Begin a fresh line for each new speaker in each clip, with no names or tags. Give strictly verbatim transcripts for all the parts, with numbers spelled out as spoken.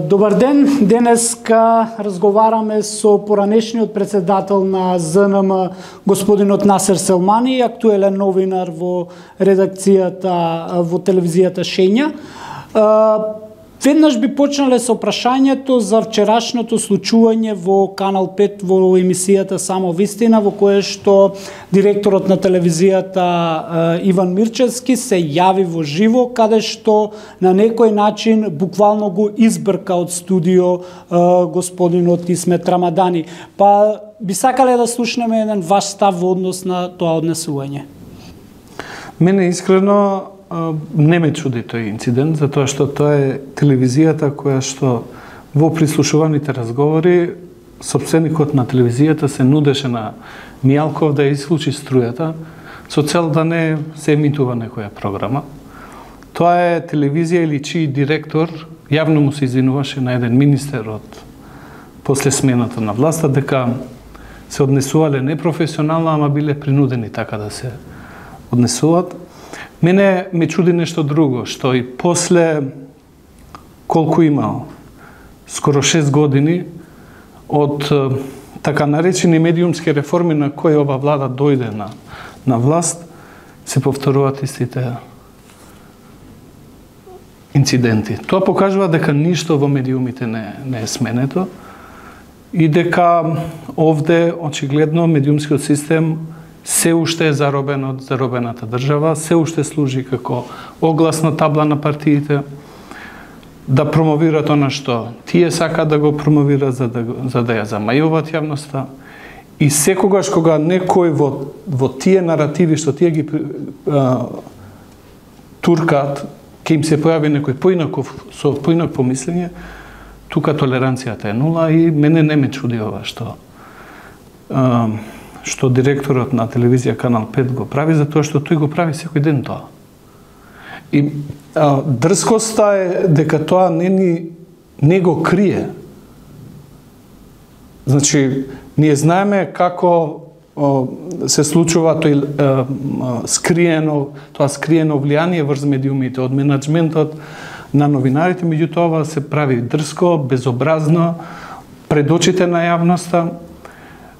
Добар ден, денеска разговараме со поранешниот председател на З Н М, господинот Насер Селмани, актуелен новинар во редакцијата во телевизијата Шења. Веднаш би почнале со прашањето за вчерашното случување во Канал пет во емисијата Само вистина, во кое што директорот на телевизијата Иван Мирчевски се јави во живо, каде што на некој начин буквално го избрка од студио господинот Исмет Рамадани. Па би сакале да слушнеме еден ваш став во однос на тоа однесување.
Мене искрено не ме чуди тој инцидент, затоа што тоа е телевизијата која што во прислушуваните разговори сопственикот на телевизијата се нудеше на Мијалков да исклучи струјата со цел да не се емитува некоја програма. Тоа е телевизија или чиј директор јавно му се извинуваше на еден министер од после смената на власта дека се однесувале непрофесионално, ама биле принудени така да се однесуваат. Мене ме чуди нешто друго, што и после колку имал, скоро шест години од така наречени медиумски реформи на кои ова влада дојде на, на власт, се повторуваат истите инциденти. Тоа покажува дека ништо во медиумите не, не е сменето и дека овде очигледно медиумскиот систем се уште е заробен од заробената држава, се уште служи како огласна табла на партиите, да промовираат она што тие сакаат да го промовираат за да, за да ја замајуваат јавноста. И секогаш кога некој во, во тие наративи што тие ги а, туркаат, ќе им се појави некој поинаков, со поинак помислење, тука толеранцијата е нула и мене не ме чуди ова што а, што директорот на телевизија Канал пет го прави, затоа што тој го прави секој ден тоа. И а, дрскоста е дека тоа не ни не го крие. Значи, ние знаеме како о, се случува тој а, скриено, тоа скриено влијание врз медиумите од менаџментот на новинарите, меѓутоа ова се прави дрско, безобразно, пред очите на јавноста,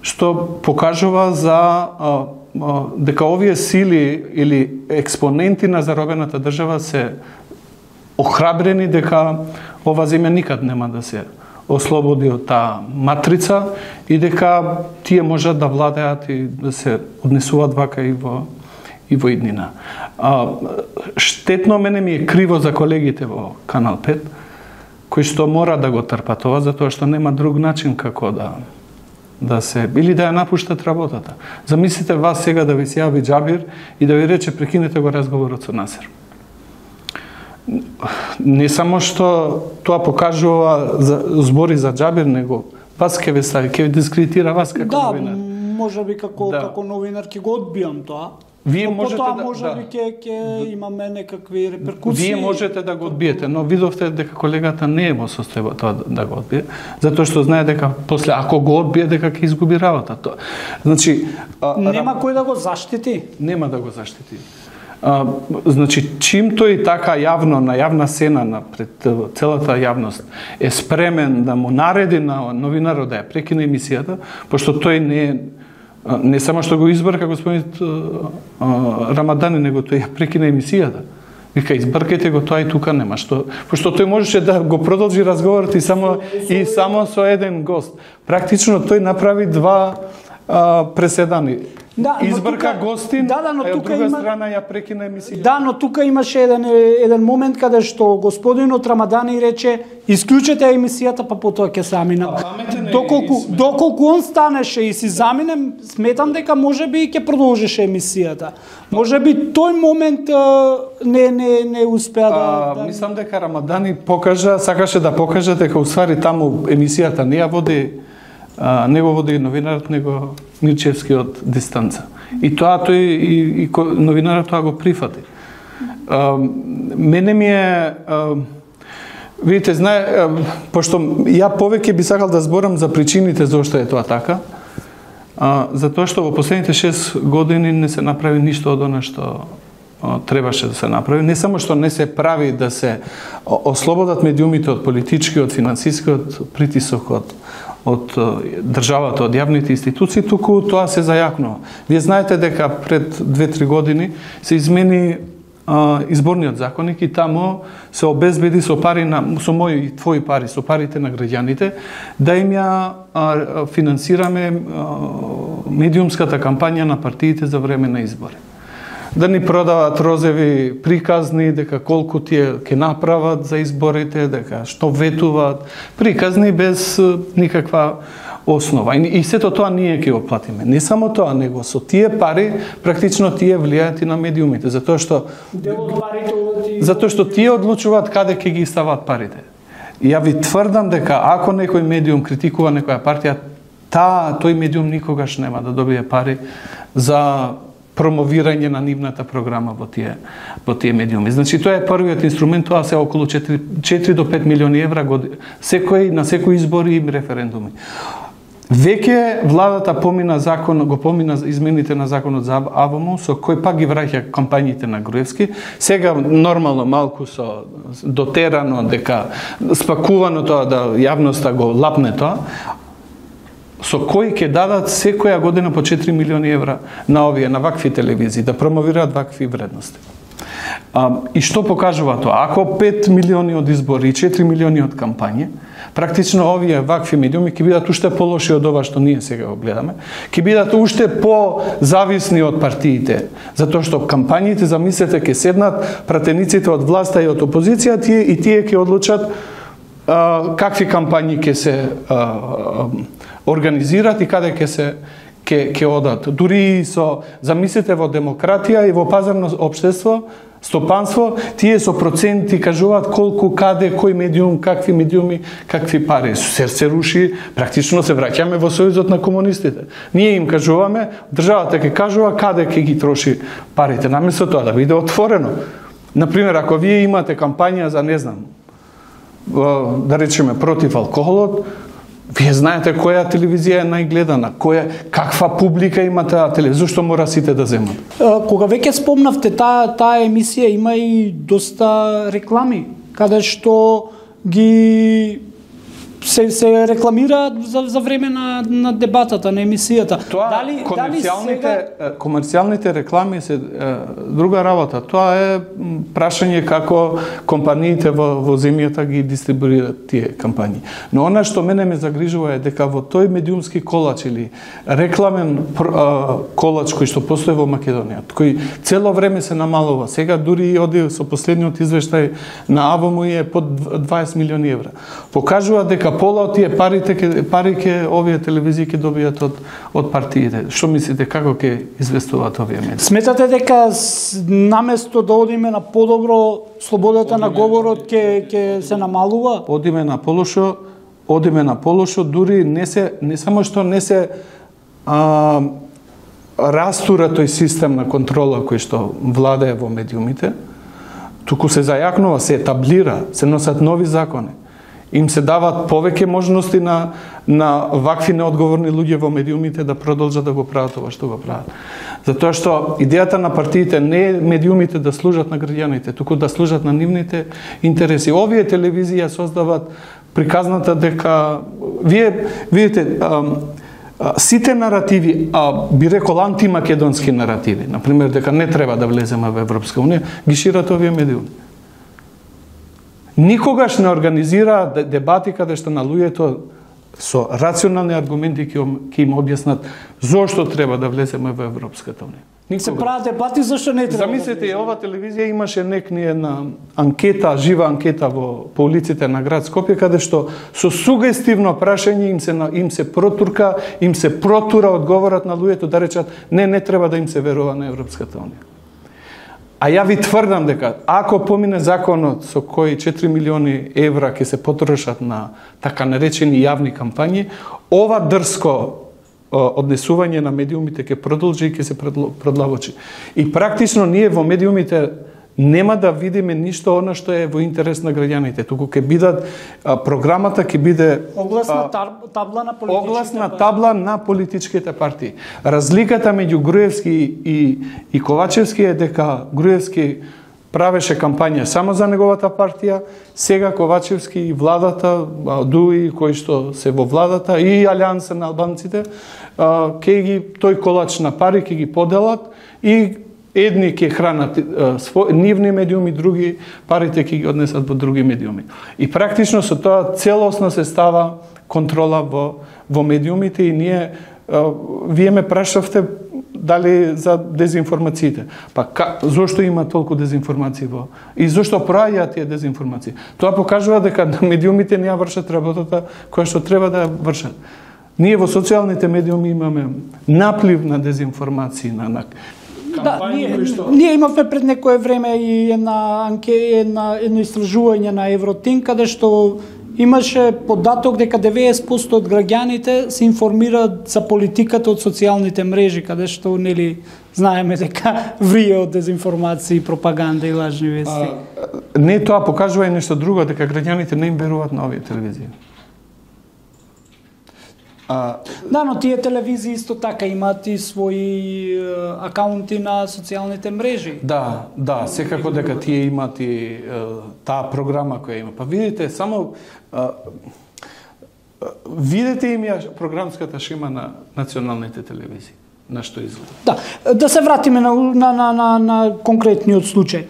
што покажува за а, а, дека овие сили или експоненти на заробената држава се охрабрени дека ова земја никад нема да се ослободи од таа матрица и дека тие можат да владеат и да се однесуваат вака и во и во иднина. А, штетно мене ми е криво за колегите во Канал пет, кои што мора да го трпат ова, затоа што нема друг начин како да да се, или да ја напуштат работата. Замислите вас сега да ви се јави Џабир и да ви рече прекинете го разговорот со Насер. Не само што тоа покажува за, збори за Џабир, него вас ке ве стави, ке ве дискредитира вас како
да,
новинар.
Да, може би како, да. како новинар ќе го одбијам тоа.
Вие
но
можете
потоа
да,
може
да.
би ќе ќе имаме некакви реперкусии.
Вие можете да го одбиете, но видовте дека колегата не е во состојба тоа да го одбие, затоа што знае дека после ако го одбие дека ќе изгуби работа. Значи,
а, нема кој да го заштити.
Нема да го заштити. А, значи, чим тој така јавно на јавна сцена на пред целата јавност е спремен да му нареди на новинарот да ја прекине емисијата, пошто тој не е не само што го избрка господинот Рамадани, него тој ја прекина емисијата. Вика, избркајте го тоа и тука нема што, пошто тој можеше да го продолжи разговорот и само и само со еден гост. Практично тој направи два а, преседани. Да, избрка тука, гостин, да, да, но а од друга има... страна ја прекина емисијата.
Да, но тука имаше еден еден момент каде што господинот Рамадани рече исклучете емисијата, па потоа ќе заминам. Доколку доколку он станеше и си заминем, сметам дека можеби ќе продолжеше емисијата. Можеби тој момент а, не не не успеа да,
да мислам дека Рамадани покажа, сакаше да покаже дека уствари таму емисијата не ја води а, не го води новинарот, него Мирчевски од дистанца. И тоа тој и, и новинарот тоа го прифати. А, мене ми е а, видите, знае, а, пошто ја повеќе би сакал да зборам за причините зошто е тоа така, а, затоа што во последните шест години не се направи ништо од она што требаше да се направи. Не само што не се прави да се ослободат медиумите од политичкиот, финансискиот притисок од од државата, од јавните институции, туку тоа се зајакнува. Вие знаете дека пред две-три години се измени а, изборниот законник и таму се обезбеди со пари на со мои и твои пари, со парите на граѓаните, да им ја а, финансираме а, медиумската кампања на партиите за време на избори. Да ни продават розеви приказни, дека колку тие ќе направат за изборите, дека што ветуваат, приказни без никаква основа. И, и сето тоа ние ќе го платиме. Не само тоа, него со тие пари практично тие влијаат и на медиумите, затоа што затоа што тие одлучуваат каде ќе ги стават парите. И ја ви тврдам дека ако некој медиум критикува некоја партија, та тој медиум никогаш нема да добие пари за промовирање на нивната програма во тие во тие медиуми. Значи тоа е првиот инструмент, тоа се околу четири до пет милиони евра година, секој на секој избори и референдуми. Веќе владата помина закон, го помина измените на законот за АВМ, со кој пак ги враќа кампањите на Груевски. Сега нормално малку со дотерано дека спакувано тоа да јавноста го лапне тоа, со кој ќе дадат секоја година по четири милиони евра на овие, на вакви телевизии, да промовираат вакви вредности. А, и што покажува тоа? Ако пет милиони од избори и четири милиони од кампање, практично овие вакви медиуми ќе бидат уште полоши од ова што ние сега го гледаме, ќе бидат уште по-зависни од партиите, затоа што кампањите, замислете, ќе седнат пратениците од власта и од опозиција, тие и тие ќе одлучат а, какви кампањи ќе се а, а, организират и каде ќе се ќе ќе одат. Дури со замислете во демократија и во пазарно општество, стопанство, тие со проценти кажуваат колку, каде, кој медиум, какви медиуми, какви пари. Се се руши, практично се враќаме во сојузот на комунистите. Ние им кажуваме, државата ќе кажува каде ќе ги троши парите, наместо тоа да биде отворено. Например, ако вие имате кампања за, не знам, да речеме против алкохолот, вие знаете која телевизија е најгледана, која, каква публика има таа телевизија, зашто мора сите да земат?
Кога веќе спомнавте таа таа емисија, има и доста реклами, каде што ги се се рекламираат за за време на на дебатата, на емисијата.
Тоа, дали комерцијалните дали сега... комерцијалните реклами се е, друга работа. Тоа е прашање како компаниите во во земјата ги дистрибуираат тие кампањи. Но она што мене ме загрижува е дека во тој медиумски колач или рекламен а, колач кој што постои во Македонија, кој цело време се намалува. Сега дури оди со последниот извештај на АВМ е под дваесет милиони евра. Покажува дека пола од тие парите ке, пари ке овие телевизии ќе добијат од од партиите. Што мислите, како ќе известуваат овие медии?
Сметате дека наместо да одиме на подобро, слободата одиме на говорот ќе ќе се намалува?
Одиме на полошо, одиме на полошо, дури не се не само што не се а, растура тој систем на контрола кој што владее во медиумите, туку се зајакнува, се етаблира, се носат нови закони. Им се дават повеќе можности на на вакви неодговорни луѓе во медиумите да продолжат да го прават ова што го прават. Затоа што идејата на партиите не е медиумите да служат на граѓаните, туку да служат на нивните интереси. Овие телевизии ја создават приказната дека вие видите а, а, сите наративи, а би рекол антимакедонски наративи, например дека не треба да влеземе во Европска унија, ги шират овие медиуми. Никогаш не организира дебати каде што на луѓето со рационални аргументи ќе им објаснат зошто треба да влеземе во Европската унија.
Никога. Се прават дебати зашто не треба.
Замислете, да ова телевизија имаше некни една анкета, жива анкета во по улиците на град Скопје, каде што со сугестивно прашање им се им се протурка, им се протура одговорат на луѓето да речат не не треба да им се верува на Европската унија. А ја ви тврдам дека ако помине законот со кој четири милиони евра ќе се потрошат на така наречени јавни кампањи, ова дрско однесување на медиумите ќе продолжи и ќе се продлабочи. И практично ние во медиумите нема да видиме ништо она што е во интерес на граѓаните, туку ќе бидат а, програмата ќе биде
огласна табла на политичките
огласна табла на политичките партии. Разликата меѓу Груевски и и Ковачевски е дека Груевски правеше кампања само за неговата партија, сега Ковачевски и владата, Дуи кои што се во владата и Алијанса на албанците, ќе ги тој колач на пари ќе ги поделат и едни ќе хранат свој нивни медиуми, други парите ќе ги однесат во други медиуми. И практично со тоа целосно се става контрола во во медиумите и ние вие ме прашавте дали за дезинформациите. Па ка, зошто има толку дезинформации во и зошто прајаат тие дезинформации? Тоа покажува дека медиумите не ја вршат работата која што треба да ја вршат. Ние во социјалните медиуми имаме наплив на дезинформации, на, на
Да, ние, што... ние имавме пред некое време и една анке, една, едно истражување на Евротин, каде што имаше податок дека деветдесет проценти од граѓаните се информираат за политиката од социјалните мрежи, каде што нели знаеме дека врие од дезинформации, пропаганда и лажни вести.
А, не, тоа покажува и нешто друго, дека граѓаните не им веруваат на овие телевизии.
А... Да, но тие телевизии исто така имаат и своји е, акаунти на социјалните мрежи.
Да, да, секако дека тие имаат и е, таа програма која има. Па видите, само е, видите им ја програмската шема на националните телевизии, на што изгледа.
Да, да се вратиме на, на, на, на, на конкретниот случај.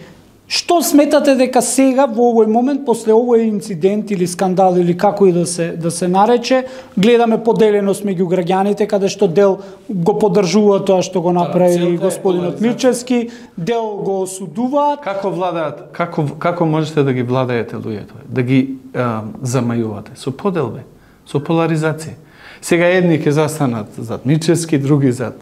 Што сметате дека сега во овој момент после овој инцидент или скандал или како и да се да се нарече, гледаме поделеност меѓу граѓаните каде што дел го поддржува тоа што го направи да, господинот Мирчевски, дел го осудуваат.
Како владаат, како како можете да ги владаете луѓето? Да ги а, замајувате со поделби, со поларизација. Сега едни ќе застанат зад Мирчевски, други зад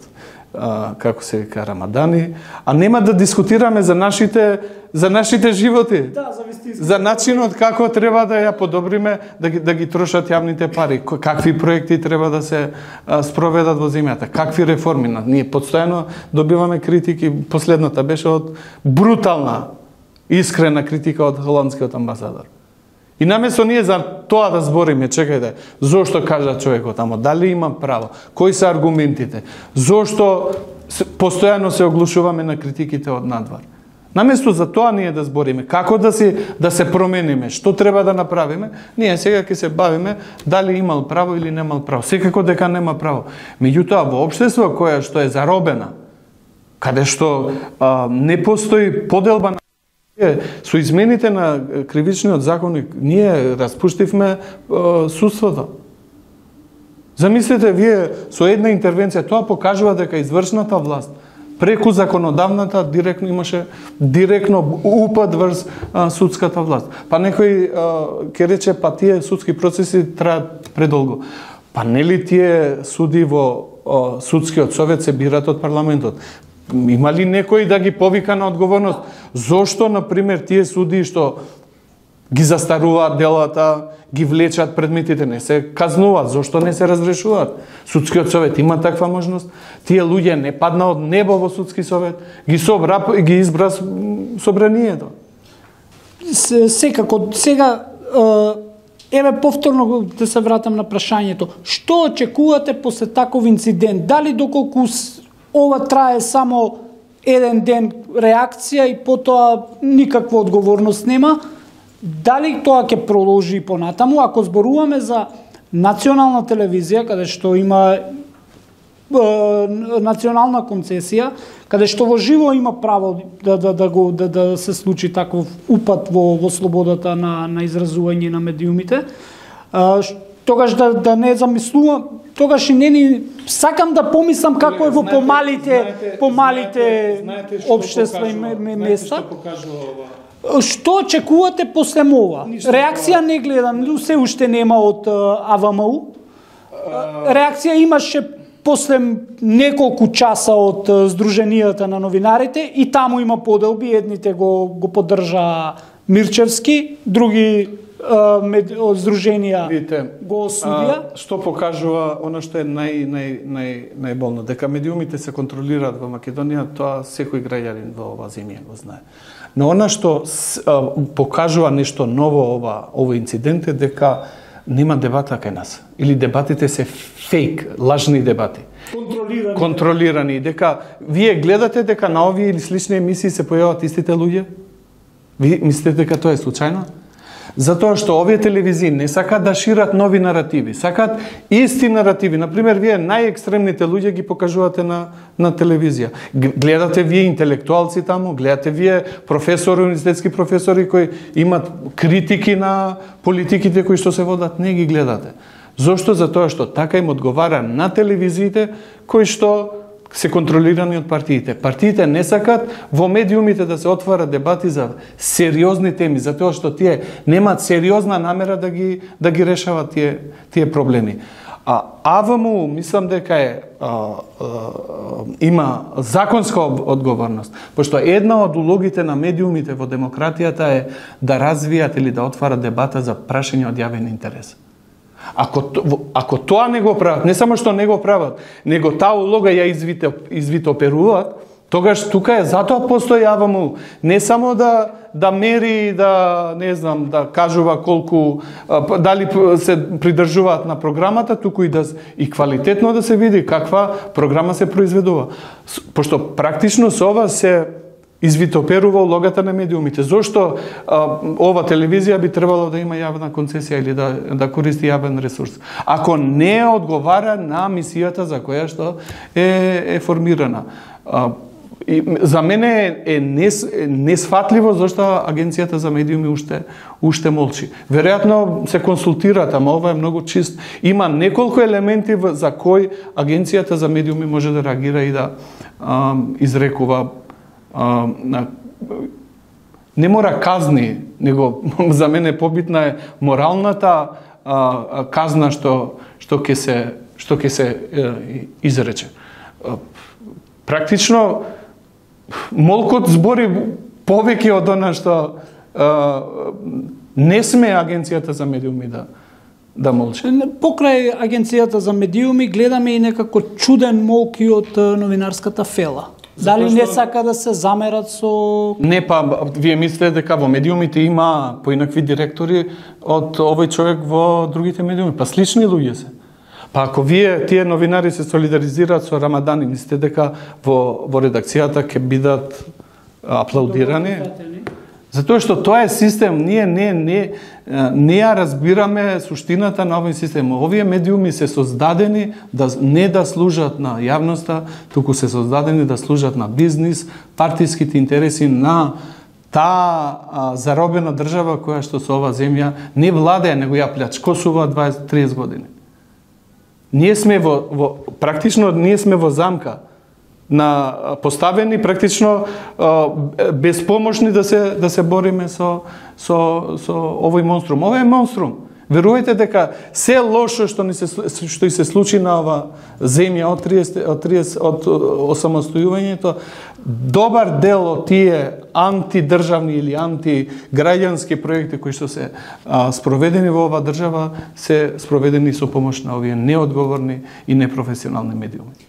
а, како се вика Рамадани, а нема да дискутираме за нашите за нашите животи.
Да, за вистински.
За начинот како треба да ја подобриме, да ги, да ги трошат јавните пари, какви проекти треба да се а, спроведат во земјата, какви реформи. Ние постојано добиваме критики, последната беше од брутална, искрена критика од холандскиот амбасадор. И наместо ние за тоа да збориме, чекајте, зошто кажа човекот тамо, дали има право, кои се аргументите, зошто постојано се оглушуваме на критиките од надвор. Наместо за тоа ние да збориме, како да се да се промениме, што треба да направиме, ние сега ќе се бавиме дали имал право или немал право. Секако дека нема право. Меѓутоа во општество кое што е заробена, каде што а, не постои поделба на со измените на кривичниот законник, ние распуштивме а, судството. Замислете вие со една интервенција, тоа покажува дека извршната власт преку законодавната директно имаше директно упад врз а, судската власт. Па некој ќе рече па тие судски процеси траат предолго. Па нели тие суди во а, судскиот совет се бират од парламентот? Има ли некој да ги повика на одговорност? Зошто, например, тие суди што ги застаруваат делата, ги влечат предметите, не се казнуваат, зошто не се разрешуваат? Судскиот совет има таква можност. Тие луѓе не падна од небо во судски совет, ги собра и ги избра собранието.
Секако, сега еве повторно да се вратам на прашањето. Што очекувате после таков инцидент? Дали доколку ова трае само еден ден реакција и потоа никаква одговорност нема, дали тоа ќе продолжи и понатаму? Ако зборуваме за национална телевизија, каде што има е, национална концесија, каде што во живо има право да, да, да, го, да, да се случи таков упад во, во слободата на, на изразување на медиумите, а, тогаш да, да не замислувам, тогаш и не ни сакам да помислам како е во помалите помалите општества и места. Што очекувате после ова? Реакција не гледам, се уште нема од А В М У. Реакција имаше после неколку часа од Сдруженијата на новинарите и таму има поделби, едните го го поддржа Мирчевски, други мед, од здруженија
Видите,
го осудија.
А, што покажува она што е нај нај нај најболно, дека медиумите се контролираат во Македонија, тоа секој граѓанин во оваа земја го знае. Но она што а, покажува нешто ново ова овој инцидент е дека нема дебата кај нас. Или дебатите се фейк, лажни дебати.
Контролирани.
Контролирани. Дека вие гледате дека на овие или слични емисии се појават истите луѓе? Ви мислите дека тоа е случајно? Затоа што овие телевизии не сакаат да шират нови наративи, сакаат исти наративи. Например, вие најекстремните луѓе ги покажувате на на телевизија. Гледате вие интелектуалци таму, гледате вие професори, универзитетски професори кои имат критики на политиките кои што се водат, не ги гледате. Зошто? Затоа што така им одговара на телевизиите кои што се контролирани од партиите. Партиите не сакат во медиумите да се отварат дебати за сериозни теми, затоа што тие немаат сериозна намера да ги да ги решават тие тие проблеми. А АВМУ мислам дека е а, а, има законска одговорност, пошто една од улогите на медиумите во демократијата е да развијат или да отварат дебата за прашање од јавен интерес. Ако, ако тоа не го прават, не само што не го прават, него таа улога ја извите, извитоперуваат, тогаш тука е затоа постои АВМУ. Не само да да мери, да не знам, да кажува колку дали се придржуваат на програмата, туку и да и квалитетно да се види каква програма се произведува. Пошто практично со ова се извитоперува улогата на медиумите. Зошто а, ова телевизија би требало да има јавна концесија или да, да користи јавен ресурс? Ако не одговара на мисијата за која што е, е формирана. А, и, за мене е нес, несфатливо зашто Агенцијата за медиуми уште, уште молчи. Веројатно се консултираат, ама ова е многу чист. Има неколку елементи за кои Агенцијата за медиуми може да реагира и да а, изрекува. А, на, не мора казни, него за мене побитна е моралната а, казна што што ќе се што ќе се е, изрече. А, практично молкот збори повеќе од она што а, не сме Агенцијата за медиуми да да молчи.
Покрај Агенцијата за медиуми гледаме и некако чуден молк и од новинарската фела. Дали не сака да се замерат со...
Не, па, вие мислите дека во медиумите има поинакви директори од овој човек во другите медиуми. Па слични луѓе се. Па ако вие, тие новинари се солидаризираат со Рамадани, мислите дека во, во редакцијата ќе бидат аплаудирани? Затоа што тоа е систем, ние не, не, не ја разбираме суштината на овој систем. Овие медиуми се создадени да не да служат на јавноста, туку се создадени да служат на бизнис, партиските интереси на таа заробена држава која што со оваа земја не владее, него ја плячкосува дваесет до триесет години. Ние сме во, во практично ние сме во замка на поставени практично безпомошни да се да се бориме со со со овој монструм. Ова е монструм. Верувајте дека се лошо што ни се што и се случи на ова земја од триесет од триесет од осамостојувањето, добар дел од тие антидржавни или антиграѓански проекти кои што се а, спроведени во оваа држава се спроведени со помош на овие неодговорни и непрофесионални медиуми.